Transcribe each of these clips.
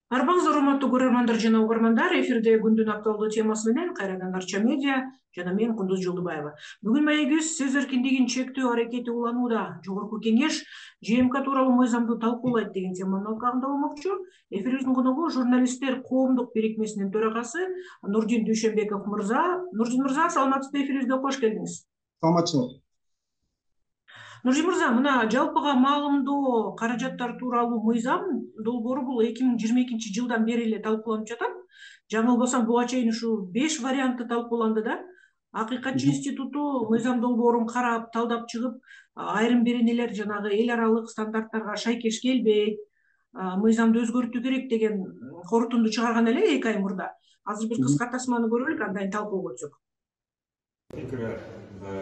Арбаңыздар, урматтуу көрөрмандар жана угармандар, эфирде күндүн актуалдуу темасы менен кайрадан Арча медиа жана мен Кундуз Жолдубаева. Бүгүн маегибиз сөз эркиндигин чектөө аракети уланууда. Жогорку кеңеш ЖМК тууралуу мыйзамды талкуулайт деген теманын алкагында болмокчу. Эфирибиздин коногу журналисттер коомдук бирикмесинин төрагасы Нурдин Дүйшөнбеков мырза. Нурдин мырза, саламатсызбы? Эфирибизге кош келдиңиз. Саламатчылык. Нурдин мырза, мына жалпыга маалымдоо каражаттар тууралуу мыйзам долбоору бул 2022-жылдан бери эле талкууланып жатат. Жаңылбасам, буга чейин ушу 5 варианты талкууланды да. Акыйкатчы институту мыйзам долбоорун карап, талдап чыгып, айрым бир нелер жанагы эл аралык стандарттарга шайкеш келбейт, мыйзамды өзгөртүү керек деген корутунду чыгарган эле 2 ай мурда. Азыр бир кыска тасманы көрөлүк, андан талкууга өтсөк.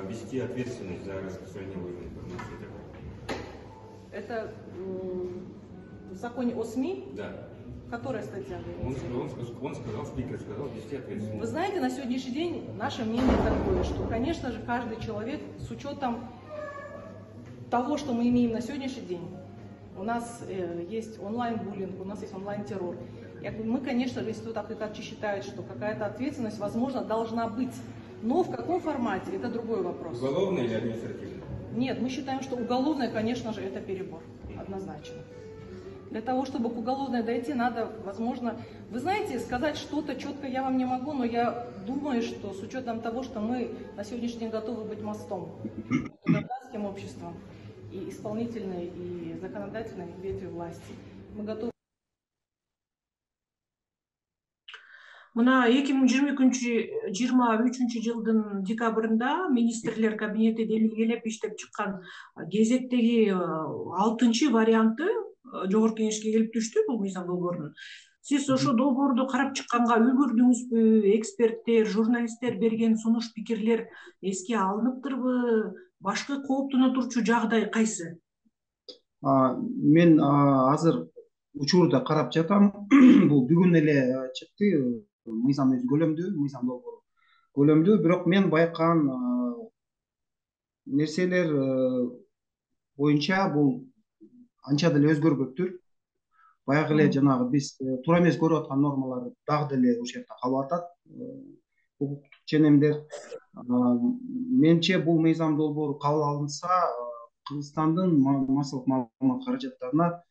Вести ответственность за распространение ложной информации. Это в законе о СМИ? Да. Которая статья? Он сказал, спикер сказал, вести ответственность. Вы знаете, на сегодняшний день наше мнение такое, что, конечно же, каждый человек с учетом того, что мы имеем на сегодняшний день, у нас есть онлайн-буллинг, у нас есть онлайн-террор. Мы, конечно же, Институт Акыйкатчы считает, что какая-то ответственность, возможно, должна быть. Но в каком формате, это другой вопрос. Уголовная или административная? Нет, мы считаем, что уголовная, конечно же, это перебор, однозначно. Для того, чтобы к уголовной дойти, надо, возможно, вы знаете, сказать что-то четко я вам не могу, но я думаю, что с учетом того, что мы на сегодняшний день готовы быть мостом между гражданским обществом и исполнительной, и законодательной ветви власти, мы готовы. Мына 2023-жылдын декабрында министрлер кабинети демилгелеп иштеп чыккан кезектеги 6-чы варианты жогорку кеңешке келип түштү бул мыйзам долбоорунун. Сиз ошо долбоорду карап чыкканга үлгүрдүңүзбү? Эксперттер, журналисттер берген сунуш пикирлер эске алыныптырбы? Башкы кооптоно турчу жагдай кайсы? Мен азыр учурда карап жатам. Бул бүгүн эле чыкты. Мыйзам өз көлөмдүү, мыйзам долбоору көлөмдүү, бирок мен байкаган нерселер боюнча бул анча деле өзгөрбөптүр. Баягы эле жанагы биз туура эмес көрүп аткан нормалар дагы деле ушул жерде калып атат. Укуктук ченемдер. Менче бул мыйзам долбоору кабыл алынса, Кыргызстандын массалык маалымат каражаттарына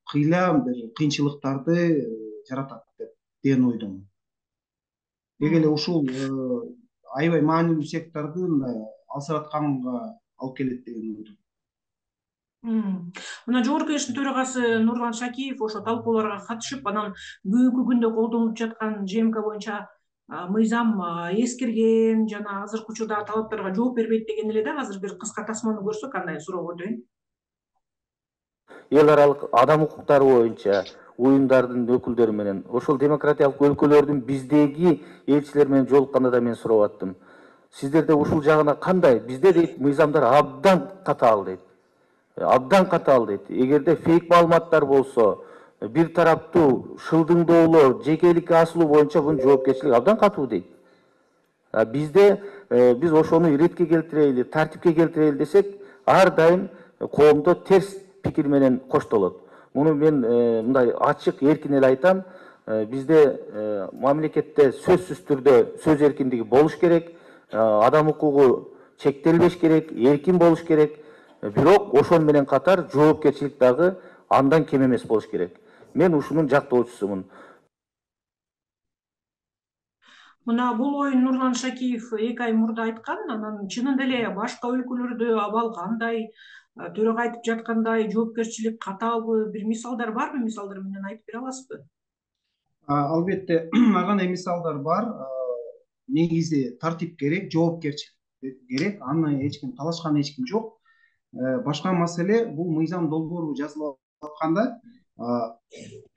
кыйла бир кыйынчылыктарды жаратат деген ойдомун. Деги эле ушул аябай маанилүү сектордун алсыратканга алып келет деген ойдомун. Мына жогорку кеңештин төрагасы Нурлан Шакиев ошо талкууларга катышып, анан бүгүнкү күндө колдонулуп жаткан ЖМК боюнча мыйзам эскирген жана азыркы учурдагы талаптарга жооп бербейт деген эле да. Азыр бир кыска тасманы көрсөк, андан суроого өтөйүн. Эл аралык адам укуктары боюнча уюмдардын өкүлдөрү менен ошол демократиялык өлкөлөрдүн биздеги элчилер менен жолукканда да мен сурап аттым. Сиздерде ушул жагына кандай? Бизде дейт мыйзамдар абдан катаал дейт. Абдан катаал дейт. Эгерде фейк маалыматтар болсо, бир тараптуу шылдыңдоолор, жекеликке асылуу боюнча бунун жоопкерчилиги абдан катуу дейт. Бизде биз ошону иретке келтирели, тартипке келтирели десек, ар дайым коомдо терс пикир менен коштолот. Муну мен мындай ачык, эркин эле айтам. Бизде мамлекетте сөзсүз түрдө сөз эркиндиги болуш керек, адам укугу чектелбеш керек, эркин болуш керек. Бирок ошон менен катар жоопкерчилик дагы андан кем эмес болуш керек. Мен ушунун жактоочусумун. Мына бул оюн Нурлан Шакиев 2 ай мурда айткан, анан чынында эле башка өлкөлөрдө абал кандай, төрага айтып жаткандай жоопкерчилик катаалбы? Бир мисалдар барбы? Мисалдар менен айтып бере аласызбы? Албетте, ар кандай мисалдар бар. Негизи тартип керек, жоопкерчилик керек. Аны эч ким талашкан эч ким жок. Башка маселе, бул мыйзам долбоору жазылып атканда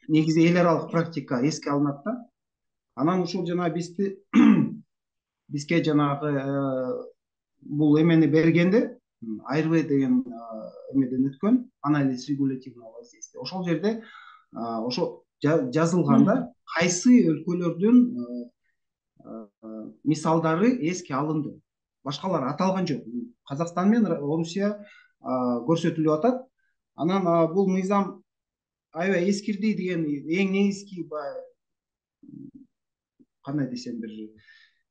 негизи эл аралык практика эске алынат да. Анан ушул жана бизге жанагы бул эмени бергенде АРВ деген эмеден өткөн, анализ регулятивного воздействия. Ошол жерде ошо жазылганда кайсы өлкөлөрдүн мисалдары эске алынды. Башкалар аталган жок. Казакстан менен Орусия көрсөтүлүп атат. Анан бул мыйзам аябай эскирди деген эң негизги кандай десем бир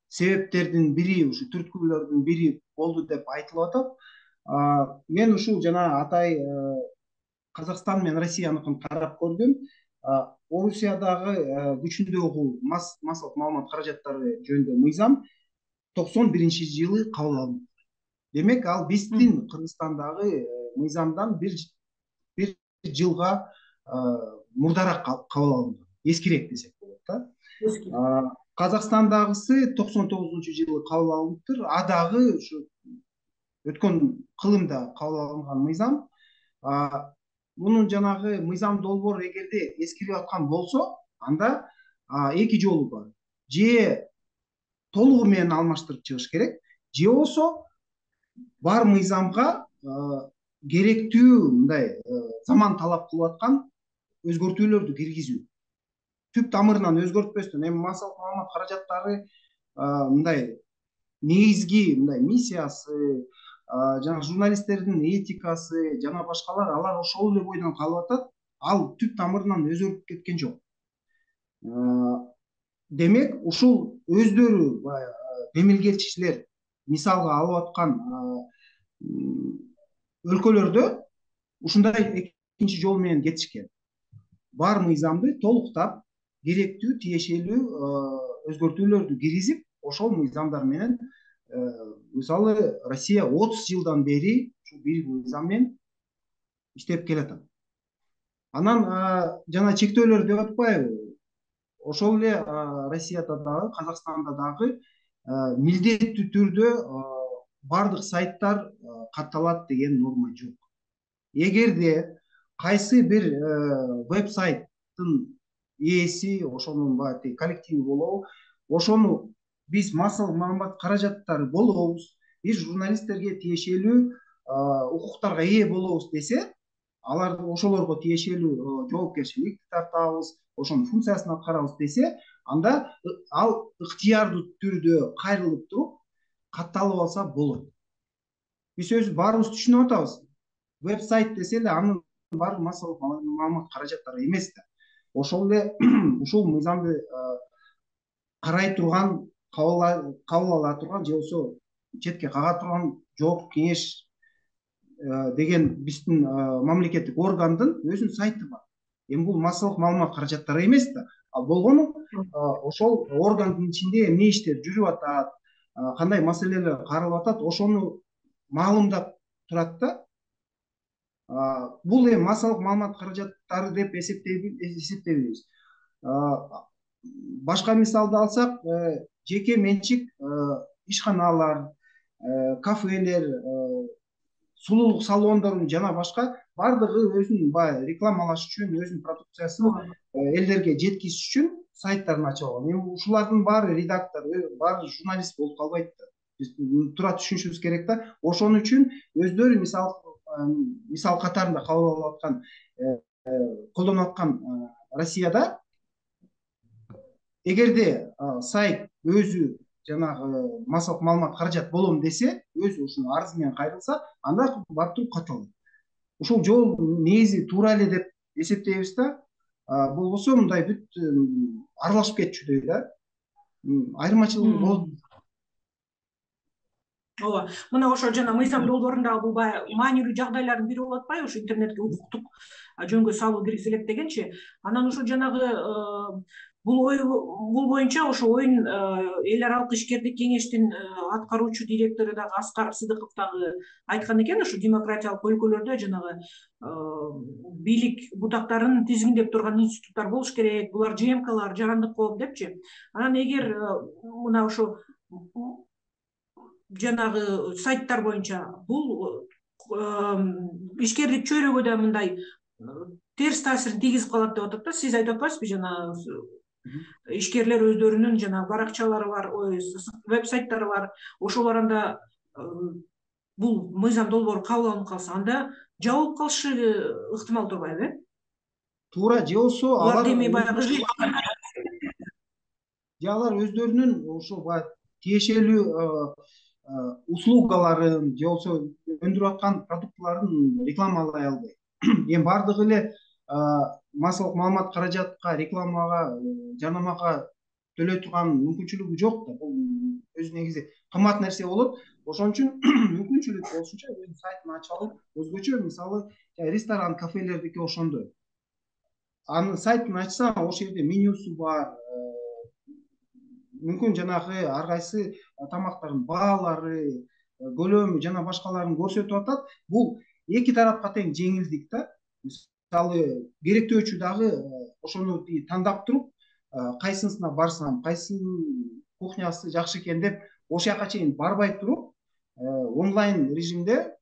себептердин бири, ушу түрткүлөрдүн бири болду деп айтылып атат. Мен ушул жана атай Казакстан менен Россияныкын карап көрдүм. Орусиядагы күчүндөгү массалык маалымат каражаттары жөнүндө мыйзам 91-жылы кабыл алынды. Демек, ал биздин Кыргызстандагы мыйзамдан бир жылга мурдараак кабыл алынган. Эскирээк десек болот да. Казакстандагысы 99-жылы кабыл алыныптыр. Дагы ушу өткөн кылымда кабыл алынган мыйзам. Мунун жанагы мыйзам долбоору эгерде эскирип аткан болсо, анда эки жолу бар. Же толугу менен алмаштырып чыгыш керек, же болбосо бар мыйзамга керектүү мындай заман талап кылып аткан өзгөртүүлөрдү киргизүү. Түп тамырынан өзгөртпөстөн, эми массалык маалымат каражаттары мындай негизги мындай миссиясы, жана журналисттердин этикасы жана башкалар, алар ошол эле бойдон калып атат. Ал түп тамырынан өзгөрүп кеткен жок. Демек, ушул өздөрү демилгечилер мисалга алып аткан өлкөлөрдө ушундай экинчи жол менен кетишкен. Бар мыйзамды толуктап, керектүү, тиешелүү өзгөртүүлөрдү киргизип, ошол мыйзамдар менен мисалы Россия 30 жылдан бери ушул бир мыйзам менен иштеп келатат. Анан жана чектөөлөр деп атпайбы? Ошол эле Россияда дагы, Казакстанда дагы милдеттүү түрдө бардык сайттар катталат деген норма жок. Эгерде кайсы бир веб-сайттын ээси, ошонун коллективи болобу, ошону биз массалык маалымат каражаттары болобуз, биз журналисттерге тиешелүү укуктарга ээ болобуз десе, алар ошолорго тиешелүү жоопкерчиликти тартабыз, ошонун функциясын аткарабыз десе, анда ал ыктыярдуу түрдө кайрылып туруп катталып алса болот. Биз өзүбүз баарыбыз түшүнүп атабыз. Веб-сайт десе эле анын баары массалык маалымат каражаттары эмес да. Ошол эле ушул мыйзамды карай турган, кабыл ала турган, же болбосо четке кага турган жооптук кеңеш деген биздин мамлекеттик органдын өзүнүн сайты бар. Эми бул массалык маалымат каражаттары эмес да. Ал болгону ошол органдын ичинде эмне иштер жүрүп атат, кандай маселелер каралып атат, ошону маалымдап турат да. Бул эми массалык маалымат каражаттары деп эсептейбиз. Башка мисалды алсак, жеке менчик ишканалар, кафелер, сулуулук салондорун жана башка бардыгы өзүн рекламалаш үчүн, өзүнүн продукциясын элдерге жеткизиш үчүн сайттарын ачып алган. Эми ушулардын баары редактор, баары журналист болуп калбайт да. Биз туура түшүнүшүбүз керек да. Ошон үчүн өздөрү мисал катарында кабыл алып аткан, колдонуп аткан Россияда эгерде сайт өзү жанагы массалык маалымат каражат болом десе, өзү ушуну арызы менен кайрылса, анда барып туруп катталат. Ушул жол негизи туура эле деп эсептейбиз да. Болбосо мындай бүт аралашып кетчүдөй да. Айырмачылыгы болот. Ооба, мына ошо жана мыйзам долбоорундагы бул маанилүү жагдайлардын бири болуп атпайбы, ушу интернетке укуктук жөнгө салуу киргизилет дегенчи. Анан ошо жанагы бул боюнча ошо оюн эл аралык ишкердик кеңештин аткаруучу директору дагы Аскар Сыдыков дагы айткан экен, ушу демократиялык өлкөлөрдө жанагы бийлик бутактарын тизгиндеп турган институттар болуш керек, булар ЖМКлар, жарандык коом депчи. Анан эгер мына ошо жанагы сайттар боюнча бул ишкердик чөйрөгө да мындай терс таасирин тийгизип калат деп атат да. Сиз айтып атпайсызбы, жана ишкерлер өздөрүнүн жана баракчалары бар, веб-сайттары бар. Ошолор анда бул мыйзам долбоору кабыл алынып калса, анда жабылып калышы ыктымал турбайбы? Туура, же болбосо алар эми баягы алар өздөрүнүн ошо тиешелүү услугаларын же болбосо өндүрүп аткан продуктларын рекламалай албайт. Эми бардыгы эле массалык маалымат каражатка, рекламага, жарнамага төлөй турган мүмкүнчүлүгү жок да. Бул өзү негизи кымбат нерсе болот. Ошон үчүн мүмкүнчүлүк болушунча өзүнүн сайтын ачып алып, өзгөчө мисалы ресторан, кафелердики ошондой. Анын сайтын ачсаң, ошол жерде менюсу бар, мүмкүн жанагы ар кайсы тамактардын баалары, көлөмү жана башкаларын көрсөтүп атат. Бул эки тарапка тең жеңилдик да. Мисалы керектөөчү дагы ошону тандап туруп, кайсысына барсам, кайсынын кухнясы жакшы экен деп ошол жака чейин барбай туруп, онлайн режимде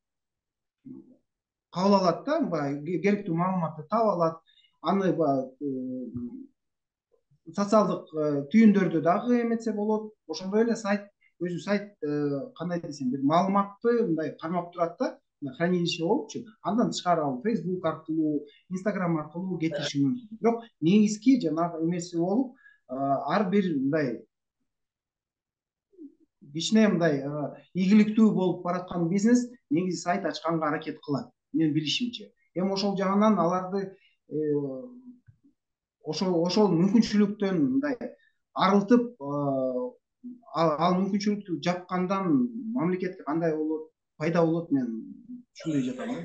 кабыл алат да, баягы керектүү маалыматты таап алат. Аны социалдык түйүндөрдө дагы эметсе болот. Ошондой эле сайт, өзү сайт кандай десем, бир маалыматты мындай кармап турат да, хранилище болупчу. Андан тышкары ал Facebook аркылуу, Instagram аркылуу кетириши мүмкүн. Бирок негизги жанагы эмеси болуп, ар бир мындай кичине мындай ийгиликтүү болуп бараткан бизнес негизи сайт ачканга аракет кылат, менин билишимче. Эми ошол жагынан аларды ошол мүмкүнчүлүктөн мындай арылтып, ал мүмкүнчүлүктү жапкандан мамлекетке кандай болот, пайда болот, мен түшүнбөй жатам да.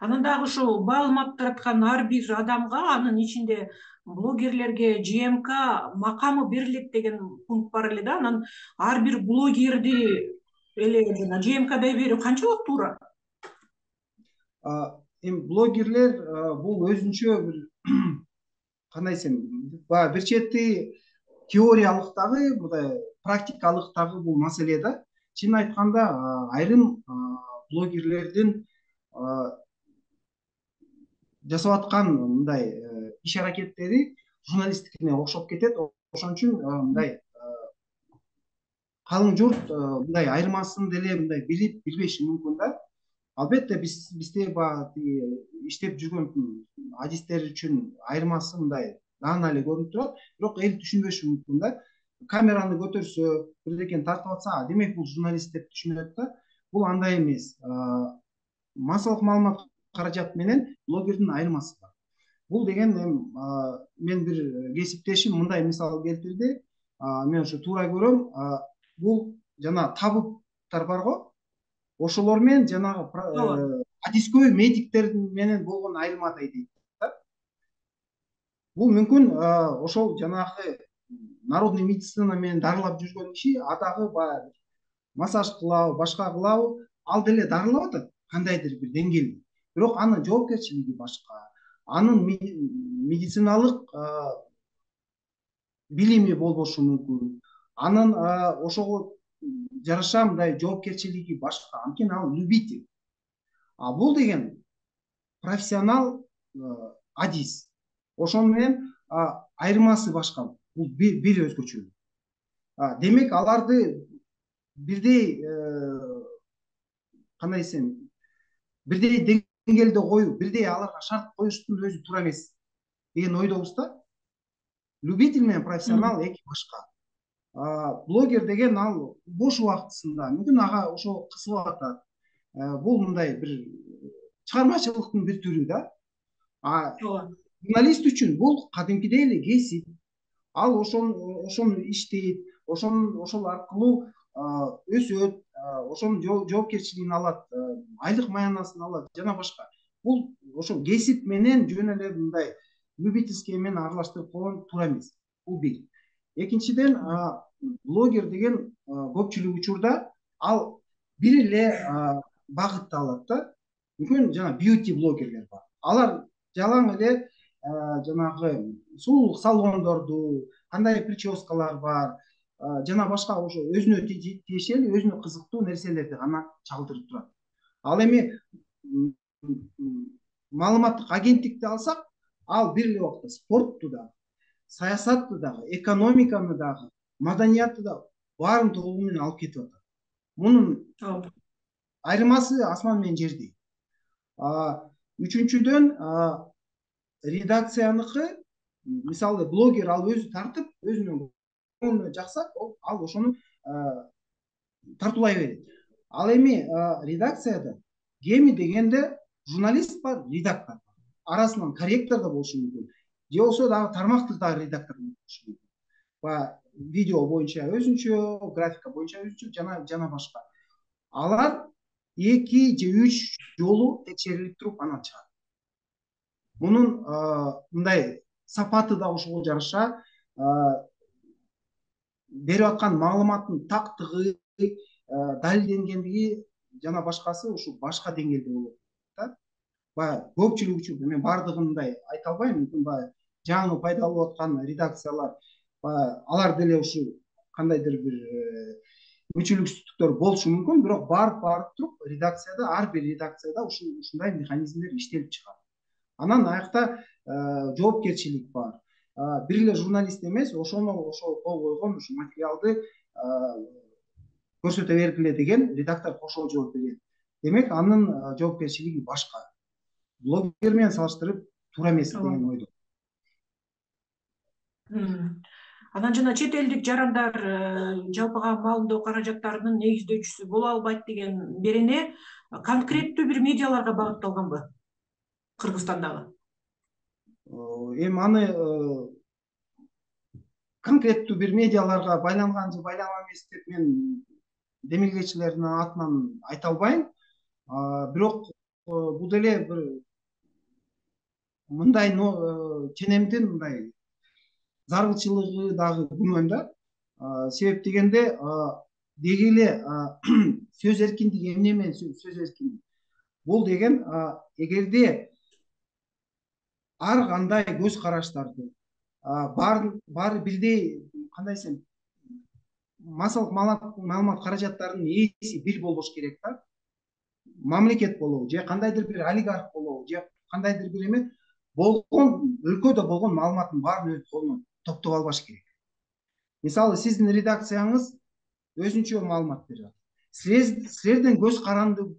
Анан дагы ушул маалымат тараткан ар бир адамга, анын ичинде блогерлерге ЖМК макамы берилет деген пункт бар эле да. Анан ар бир блогерди эле жана ЖМКдай берүү канчалык туура? Эми блогерлер бул өзүнчө бир кандай десем, баягы бир чети теориялык дагы, мындай практикалык дагы бул маселе да. Чынын айтканда, айрым блогерлердин жасап аткан мындай иш аракеттери журналисттикине окшоп кетет. Ошон үчүн мындай калың журт мындай айырмасын деле мындай билип билбеши мүмкүн да. Албетте бизде баягы иштеп жүргөн адистер үчүн айырмасы мындай даана эле көрүнүп турат, бирок эл түшүнбөшү мүмкүн да. Камераны көтөрсө, бирдекени тартып атса, демек бул журналист деп түшүнөт да. Бул андай эмес. Массалык маалымат каражат менен блогердин айырмасы бар. Бул деген мен бир кесиптешим мындай мисал келтирди. Мен ошо туура көрөм. Бул жана табыптар бар го. Ошолор менен жанагы адискөй медиктер менен болгон айырмадай дейт да. Бул мүмкүн ошол жанагы народный медицина менен дарылап жүргөн киши дагы баягы массаж кылабы, башка кылабы, ал деле дарылап атат кандайдыр бир деңгээлде. Бирок анын жоопкерчилиги башка, анын медициналык билими болбошу мүмкүн. Анын ошого жараша мындай жоопкерчилиги башка. Анткени ал любитель. Бул деген профессионал адис. Ошон менен айырмасы башка. Бул бир өзгөчөлүк. Демек аларды бирдей кандай десем, бирдей деңгээлде коюп, бирдей аларга шарт коюштун өзү туура эмес деген ойдобуз да. Любитель менен профессионал эки башка. Блогер деген ал бош убактысында мүмкүн ага ошо кызыгып атат. Бул мындай бир чыгармачылыктын бир түрү да. Журналист үчүн бул кадимкидей эле кесип. Ал ошону иштейт, ошол аркылуу өсөт, ошонун жоопкерчилигин алат, айлык маянасын алат жана башка. Бул ошол кесип менен жөн эле мындай любительский менен аралаштырып койгон туура эмес. Бул бир. Экинчиден, блогер деген көпчүлүк учурда ал бир эле багытты алат да. Мүмкүн жана бьюти блогерлер бар. Алар жалаң эле жанагы сулуулук салондорду, кандай прическалар бар, жана башка ошо өзүнө тиешелүү, өзүнө кызыктуу нерселерди гана чагылдырып турат. Ал эми маалыматтык агенттикти алсак, ал бир эле убакта спортту да, саясатты дагы, экономиканы дагы, маданиятты да баарын толугу менен алып кетип атат. Мунун айырмасы асман менен жердей. Үчүнчүдөн, редакцияныкы, мисалы блогер ал өзү тартып, өзүнүн көңүлүнө жакса, ал ошону тартуулай берет. Ал эми редакцияда кеми дегенде журналист бар, редактор бар. арасынан корректор да болушу мүмкүн, же болбосо дагы тармактык дагы редактор болушу мүмкүн. Баягы видео боюнча өзүнчө, графика боюнча өзүнчө жана башка. Алар 2 же 3 жолу текшерилип туруп анан чыгат. Мунун мындай сапаты да ошого жараша, берип аткан маалыматтын тактыгы, далилденгендиги жана башкасы ушу башка деңгээлде болот да. Баягы көпчүлүк үчүн мен баардыгын мындай айта албайм, мүмкүн баягы жаңы пайда болуп аткан редакциялар, алар деле ушу кандайдыр бир мүчүлүксүздүктөр болушу мүмкүн, бирок барып туруп редакцияда, ар бир редакцияда ушундай механизмдер иштелип чыгат. Анан аякта жоопкерчилик бар. Бир эле журналист эмес, ошол кол койгон ушу материалды көрсөтө бергиле деген редактор кошо жооп берет. Демек, анын жоопкерчилиги башка. Блогер менен салыштырып туура эмес деген ойдо. Анан жана чет элдик жарандар жалпыга маалымдоо каражаттарынын негиздөөчүсү боло албайт деген берене конкреттүү бир медиаларга багытталганбы Кыргызстандагы? Эми аны конкреттүү бир медиаларга байланган же байланган эмес деп мен демилгечилердин атынан айта албайм. Бирок бул деле бир мындай ченемдин мындай зарылчылыгы дагы күмөн да. Себеп дегенде деги эле сөз эркиндиги эмне менен сөз эркиндиги? Бул деген эгерде ар кандай көз караштарды баары бирдей, кандай десем, массалык маалымат каражаттарынын ээси бир болбош керек да. Мамлекет болобу же кандайдыр бир олигарх болобу же кандайдыр бир эме болгон өлкөдө болгон маалыматтын баарын өз колуна топтоп албаш керек. Мисалы, сиздин редакцияңыз өзүнчө маалымат берип атат. Силерден көз карандысыз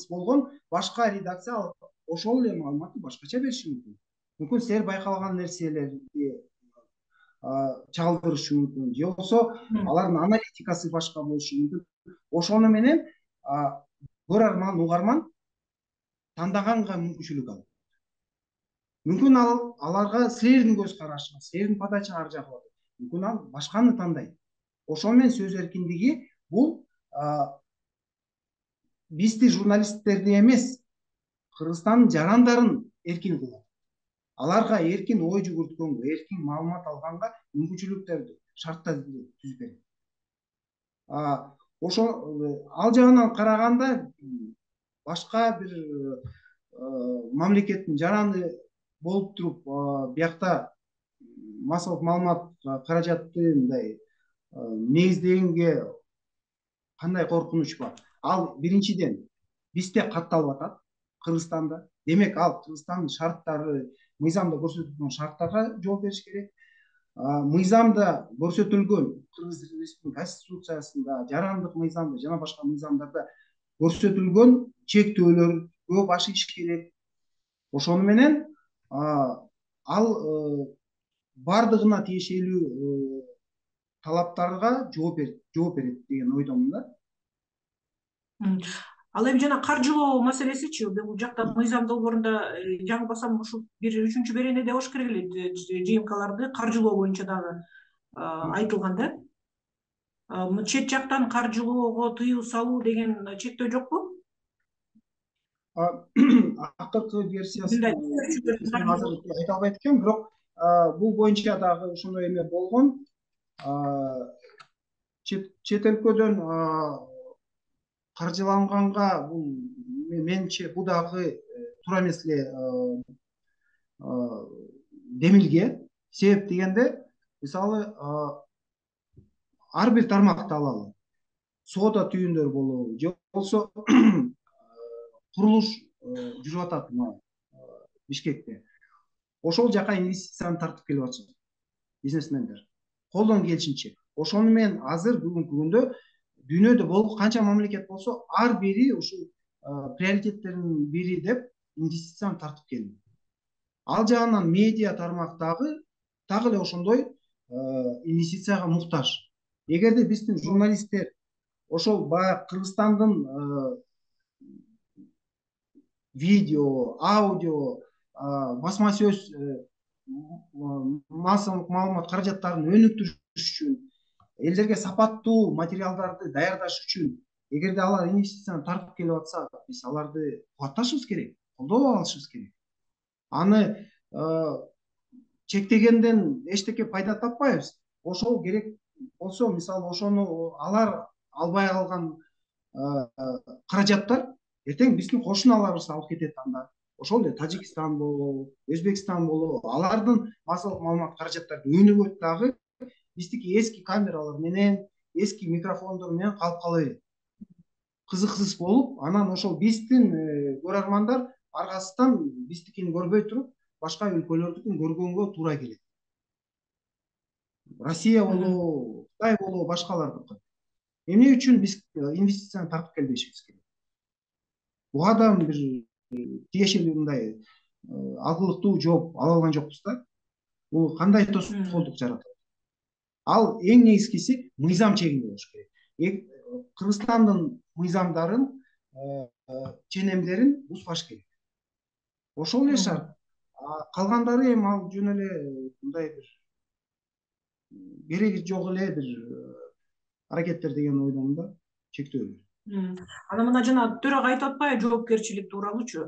болгон башка редакция ошол эле маалыматты башкача бериши мүмкүн. Мүмкүн силер байкалган нерселерди чагылдырышы мүмкүн, же болбосо алардын аналитикасы башка болушу мүмкүн. Ошону менен көрөрман, угарман тандаганга мүмкүнчүлүк алат. Мүмкүн аларга силердин көз карашыңыз, силердин подачаңар жагат. Мүмкүн ал башканы тандайт. Ошол менен сөз эркиндиги бул бизди журналисттерди эмес, Кыргызстандын жарандарын эркин кылат. Аларга эркин ой жүгүрткөнгө, эркин маалымат алганга мүмкүнчүлүктөрдү, шарттарды түзүп берет. Ошо ал жагынан караганда башка бир мамлекеттин жараны болуп туруп биякта массалык маалымат каражатты мындай негиздегенге кандай коркунуч бар? Ал биринчиден бизде катталып атат, Кыргызстанда. Демек, ал Кыргызстандын шарттары, мыйзамда көрсөтүлгөн шарттарга жооп бериш керек. Мыйзамда көрсөтүлгөн Кыргыз Республикасынын Конституциясында, жарандык мыйзамда жана башка мыйзамдарда көрсөтүлгөн чектөөлөргө баш ийиш керек. Ошону менен ал бардыгына тиешелүү талаптарга жооп берет деген ойдомун да. Ал эми жана каржылоо маселесичи, бул жакта мыйзам долбоорунда жаңылбасам ушул бир 3-чү беренеде болуш керек эле, ЖМКларды каржылоо боюнча дагы айтылган да. Чет жактан каржылоого тыюу салуу деген чектөө жокпу? Акыркы версиясын азыр айта албайт экенмин, бирок бул боюнча дагы ошондой эме болгон. Чет өлкөдөн каржыланганга бул менимче бул дагы туура эмес эле демилге. Себеп дегенде, мисалы, ар бир тармакты алалы. Соода түйүндөр болобу, же болбосо курулуш жүрүп атат Бишкекте. Ошол жака инвестицияны тартып келип атышат бизнесмендер. Колдон келишинче. Ошону менен азыр бүгүнкү күндө дүйнөдө болгон канча мамлекет болсо, ар бири ушул приоритеттердин бири деп инвестицияны тартып келди. Ал жагынан медиа тармак дагы эле ошондой инвестицияга муктаж. Эгерде биздин журналисттер ошол баягы Кыргызстандын видео, аудио, басма сөз, массалык маалымат каражаттарын өнүктүрүш үчүн, элдерге сапаттуу материалдарды даярдаш үчүн, эгерде алар инвестицияны тартып келип атса, биз аларды кубатташыбыз керек, колдоо алышыбыз керек. Аны чектегенден эчтеке пайда таппайбыз. Ошол керек болсо, мисалы ошону алар албай калган каражаттар эртең биздин кошуналарыбыз алып кетет анда. Ошол эле Тажикстан болобу, Өзбекстан болобу, алардын массалык маалымат каражаттары өнүгөт дагы, биздики эски камералар менен, эски микрофондор менен калып кала берет. Кызыксыз болуп, анан ошол биздин көрөрмандар аргасынан биздикини көрбөй туруп, башка өлкөлөрдүкүн көргөнгө туура келет. Россия болобу, Кытай болобу, башкалардыкы. Эмне үчүн биз инвестицияны тартып келбешибиз керек? Буга да бир тиешелүү мындай алгылыктуу жооп ала алган жокпуз да. Бул кандай тоскоолдук жаратат? Ал эң негизгиси мыйзам чегинде болуш керек. Кыргызстандын мыйзамдарын, ченемдерин бузбаш керек. Ошол эле шарт. Калгандары эми ал жөн эле мындай бир кереги жок эле бир аракеттер деген ойдомун да, чектөө. Анан мына жана төрага айтып атпайбы жоопкерчилик тууралуучу?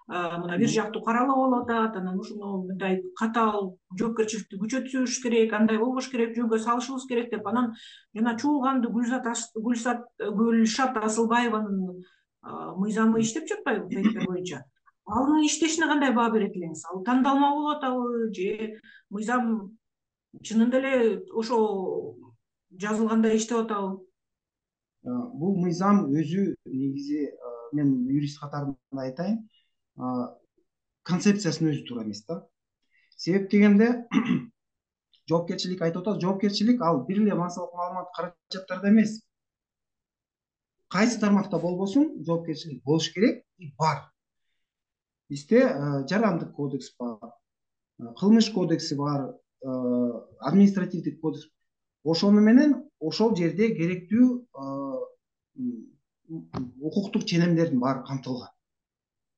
Мына бир жактуу каралып болуп атат, анан ушуну мындай катаал жоопкерчиликти күчөтүш керек, андай болбош керек, жөнгө салышыбыз керек деп. Анан жана чуулганды Гүлшат Асылбаеванын мыйзамы иштеп жатпайбы проекттер боюнча? Анын иштешине кандай баа берет элеңиз? Ал тандалма болуп атабы же мыйзам чынында эле ошо жазылгандай иштеп атабы? Бул мыйзам өзү негизи, мен юрист катарында айтайын, концепциясынын өзү туура эмес да. Себеп дегенде жоопкерчилик айтып атат, жоопкерчилик ал бир эле массалык маалымат каражаттарда эмес. Кайсы тармакта болбосун, жоопкерчилик болуш керек и бар. Бизде жарандык кодекс бар, кылмыш кодекси бар, административдик кодекс. Ошону менен ошол жерде керектүү укуктук ченемдердин баары камтылган.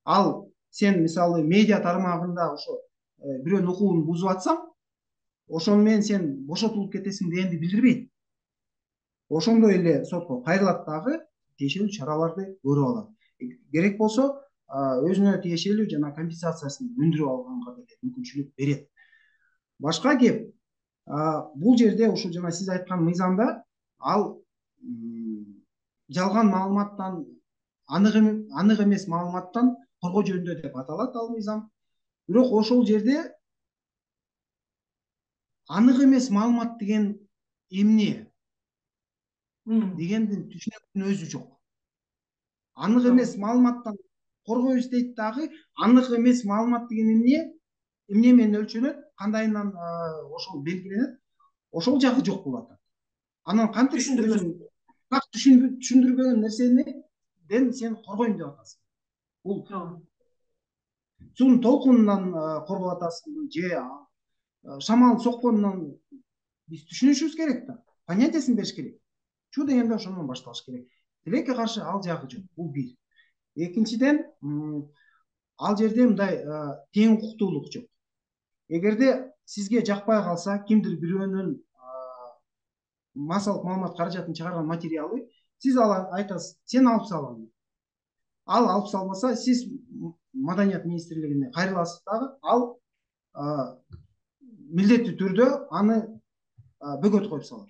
Ал сен мисалы медиа тармагында ошо бирөөнүн укугун бузуп атсаң, ошону менен сен бошотулуп кетесиң дегенди билдирбейт. Ошондой эле сотко кайрылат дагы тиешелүү чараларды көрүп алат. Керек болсо өзүнө тиешелүү жана компенсациясын өндүрүп алганга деле мүмкүнчүлүк берет. Башка кеп, бул жерде ушул жана сиз айткан мыйзамда ал жалган маалыматтан, анык эмес маалыматтан коргоо жөнүндө деп аталат ал мыйзам. Бирок ошол жерде анык эмес маалымат деген эмне дегендин түшүнүктүн өзү жок. Анык эмес маалыматтан коргойбуз дейт дагы, анык эмес маалымат деген эмне менен өлчөнөт, кандайынан ошол белгиленет, ошол жагы жок болуп атат. Анан кантип түшүндүрбөгөн нерседен сен коргойм деп атасың? Бул суунун толкунунан коргоп атасыңбы же шамал сокконунан? Биз түшүнүшүбүз керек да, понятиясын бериш керек. Чуу дегенде ошондон башталыш керек. Тилекке каршы ал жагы жок. Бул бир. Экинчиден, ал жерде мындай тең укуктуулук жок. Эгерде сизге жакпай калса, кимдир бирөөнүн массалык маалымат каражатын чыгарган материалы, сиз айтасыз, сен алып сал. Ал алып салбаса, сиз Маданият министрлигине кайрыласыз дагы, ал милдеттүү түрдө аны бөгөт коюп салат.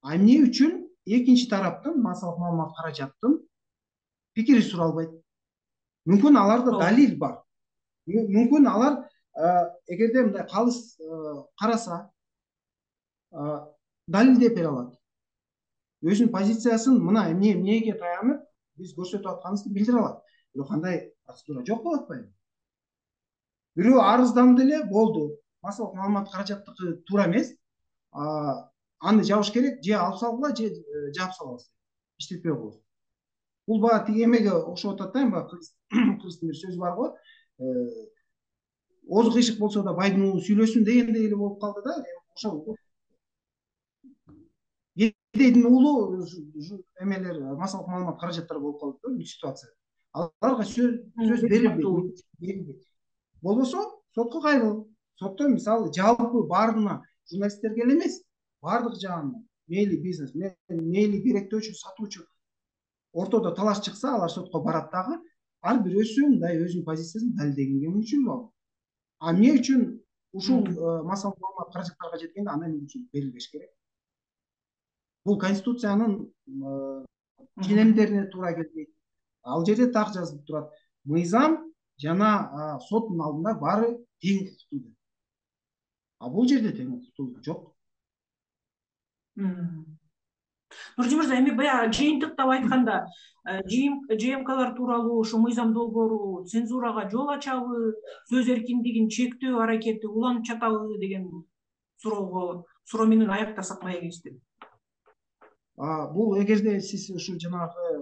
Эмне үчүн экинчи тараптын, массалык маалымат каражаттын пикири суралбайт? Мүмкүн аларда далил бар. Мүмкүн алар эгерде мындай калыс караса, далилдеп бере алат. Өзүнүн позициясын мына эмнеге таянып биз көрсөтүп атканыбызды билдире алат. Бирок кандай процедура жок болуп атпайбы? Бирөө арызданды эле, болду. Массалык маалымат каражаттыкы туура эмес. Аны жабыш керек, же алып салгыла, же жаап салабыз. Иштетпей коебуз. Бул баа тиги эмеге окшоп атат да, эми кыргыздын бир сөзү бар го. Озу кыйшык болсо да байдын уулу сүйлөсүн дегендей эле болуп калды да. Ошол кедейдин уулу эмелер, массалык маалымат каражаттары болуп калды да бул ситуация. аларга сөз берилбейт. Болбосо сотко кайрыл. Сотто мисалы жалпы баарына журналисттерге эле эмес, баардык жагына, мейли бизнес, мейли керектөөчү, сатуучу ортодо талаш чыкса, алар сотко барат дагы, ар бирөөсү мындай өзүнүн позициясын далилдегенге мүмкүнчүлүгү бар. Эмне үчүн ушул массалык маалымат каражаттарга жеткенде ана эмне үчүн берилбеш керек? Бул конституциянын ченемдерине туура келбейт. Ал жерде так жазылып турат: мыйзам жана соттун алдында баары тең укуктуу деп. А бул жерде тең укуктуулук жок. Нуржи мырза, эми баягы жыйынтыктап айтканда, ЖМКлар тууралуу ушу мыйзам долбоору цензурага жол ачабы, сөз эркиндигин чектөө аракети уланып жатабы деген суроо менен аяктасак маегибиз деп. Бул эгерде сиз ушу жанагы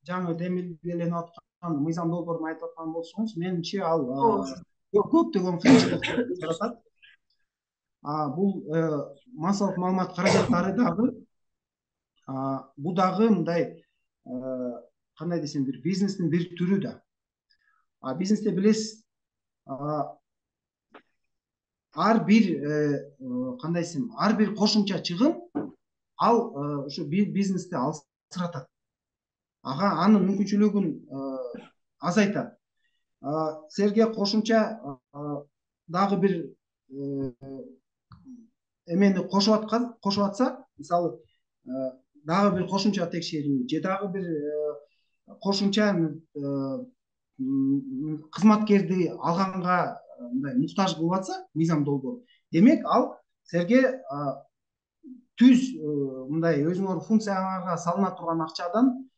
жаңы демилгеленип аткан мыйзам долбоорун айтып аткан болсоңуз, менимче ал көптөгөн кыйынчылыктарды жаратат. Бул массалык маалымат каражаттары дагы бул дагы мындай кандай десем, бир бизнестин бир түрү да. Бизнесте билесиз, ар бир кандай десем, ар бир кошумча чыгым ал ушу бизнести алсыратат. Анын мүмкүнчүлүгүн азайтат. Силерге кошумча дагы бир эмени кошуп атса, мисалы дагы бир кошумча текшерүү же дагы бир кошумча кызматкерди алганга мындай муктаж кылып атса мыйзам долбоору, демек ал силерге түз мындай өзүңөр функцияңарга салына турган акчадан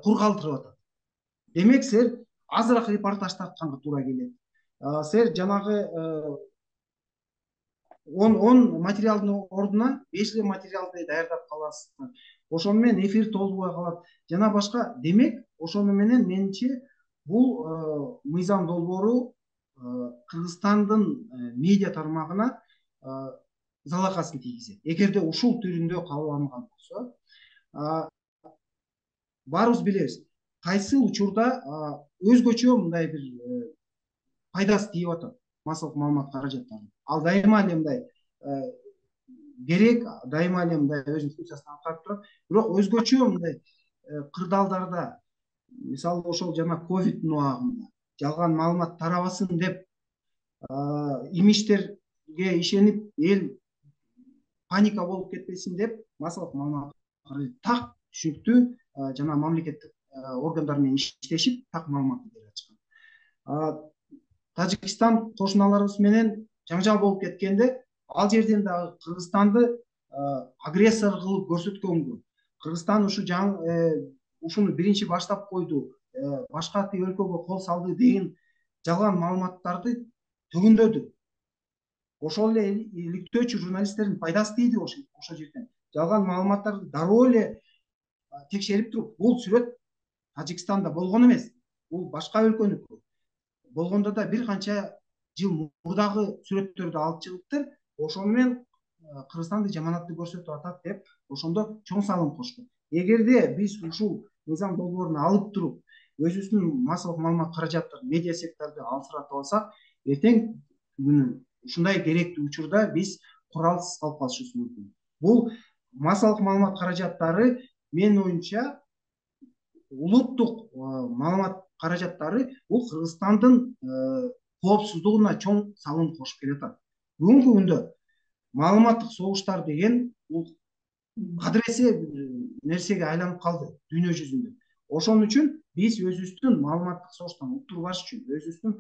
кур калтырып атат. Демек силер азыраак репортаж тартканга туура келет. Силер жанагы 10 материалдын ордуна 5 материалды даярдап каласыздар. Ошону менен эфир толбой калат жана башка. Демек ошону менен менимче бул мыйзам долбоору Кыргызстандын медиа тармагына залакасын тийгизет. Эгерде ушул түрүндө кабыл алынган болсо, баарыбыз билебиз, кайсы учурда өзгөчө мындай бир пайдасы тийип атат массалык маалымат каражаттарына. Ал дайыма эле мындай керек, дайыма эле мындай өзүнүн функциясын аткарып турат. Бирок өзгөчө мындай кырдаалдарда, мисалы ошол жана ковидтин убагында жалган маалымат тарабасын деп имичтерге ишенип, эл паника болуп кетпесин деп массалык маалымат так түшүнүктүү жана мамлекеттик органдар менен иштешип так маалыматты берип атышкан. Тажикстан кошуналарыбыз менен жаңжал болуп кеткенде, ал жерден дагы Кыргызстанды агрессор кылып көрсөткөнгө, Кыргызстан ушуну биринчи баштап койду, башка өлкөгө кол салды деген жалган маалыматтарды төгүндөдү. Ошол эле иликтөөчү журналисттердин пайдасы тийди ошол жерден. Жалган маалыматтарды дароо эле текшерип туруп, бул сүрөт Тажикстанда болгон эмес, бул башка өлкөнүкү. Болгондо да бир канча жыл мурдагы сүрөттөрдү алып чыгыптыр. Ошону менен Кыргызстанды жаманатты көрсөтүп атат деп, ошондо чоң салым кошту. Эгерде биз ушул мыйзам долбоорун алып туруп, өзүбүздүн массалык маалымат каражаттарын, медиа секторду алсыратып алсак, эртең күнү ушундай керектүү учурда биз куралсыз калып калышыбыз мүмкүн. Бул массалык маалымат каражаттары менин оюмча улуттук маалымат каражаттары бул Кыргызстандын коопсуздугуна чоң салым кошуп келатат. Бүгүнкү күндө маалыматтык согуштар деген бул кадыресе нерсеге айланып калды дүйнө жүзүндө. Ошон үчүн биз өзүбүздүн маалыматтык согуштан уктурбаш үчүн, өзүбүздүн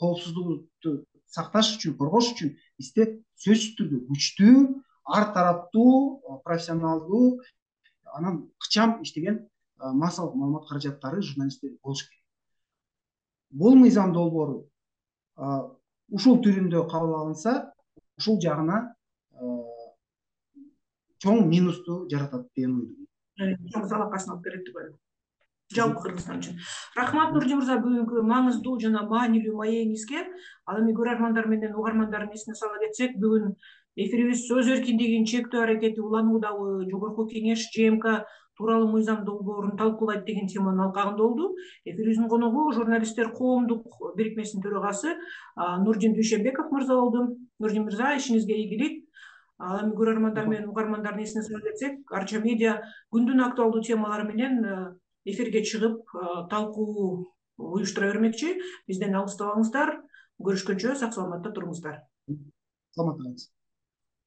коопсуздугубузду сакташ үчүн, коргош үчүн бизде сөзсүз түрдө күчтүү, ар тараптуу, профессионалдуу, анан ыкчам иштеген массалык маалымат каражаттары, журналисттер болуш керек. Бул мыйзам долбоору ушул түрүндө кабыл алынса, ушул жагына чоң минусту жаратат деген ойдомун. Чоң залакасын алып берет деп ойлойм. Жалпы Кыргызстан үчүн. Рахмат Нуржи мырза бүгүнкү маңыздуу жана маанилүү маегиңизге. Ал эми көрөрмандар менен угармандардын эсине сала кетсек, бүгүн эфирибиз сөз эркиндигин чектөө аракети улануудабы, Жогорку Кеңеш ЖМК тууралуу мыйзам долбоорун талкуулайт деген теманын алкагында болду. Эфирибиздин коногу журналисттер коомдук бирикмесинин төрагасы Нурдин Дүйшөнбеков мырза болду. Нурдин мырза, ишиңизге ийгилик. Ал эми көрөрмандар менен угармандардын эсине сала кетсек, Арча медиа күндүн актуалдуу темалары менен эфирге чыгып талкуу уюштура бермекчи. Бизден алыстабаңыздар. Көрүшкөнчө сак саламатта туруңуздар. Саламатта калыңыз.